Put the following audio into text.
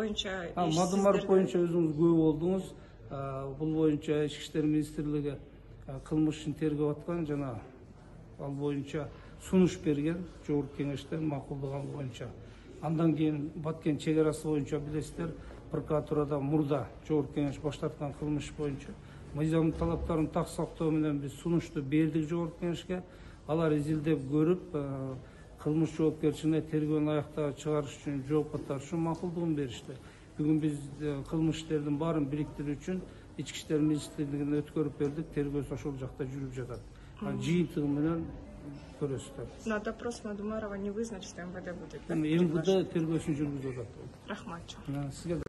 боюнча Мадымаров боюнча өзүңүз күбө болдуңуз. Бул боюнча Ички иштер министрлиги кылмыш ишин тергеп аткан жана ал боюнча сунуш берген жогорку кеңештен макулдуган боюнча. Андан кийин Баткен чек арасы боюнча билесиздер, прокуратурада мурда жогорку кеңеш баштаткан кылмыш боюнча мыйзам талаптарын так сактоо менен биз сунушту бердик жогорку кеңешке. Алар изилдеп көрүп, кылмыш жоопкерчилигине тергөөнү аяктап чыгарыш үчүн, жоопко тартыш үчүн макулдугун беришти. Бүгүн биз кылмыш иштердин баарын бириктирүү үчүн Ички иштер министрлигине өткөрүп бердик. Тергөөсү ошол жакта жүрүп жатат. Жыйынтыгы менен көрөсүздөр. На допрос Мадумарова не вызначит, МВД будет. МВД тергөөсүн жүргүзүп жатат. Рахмат.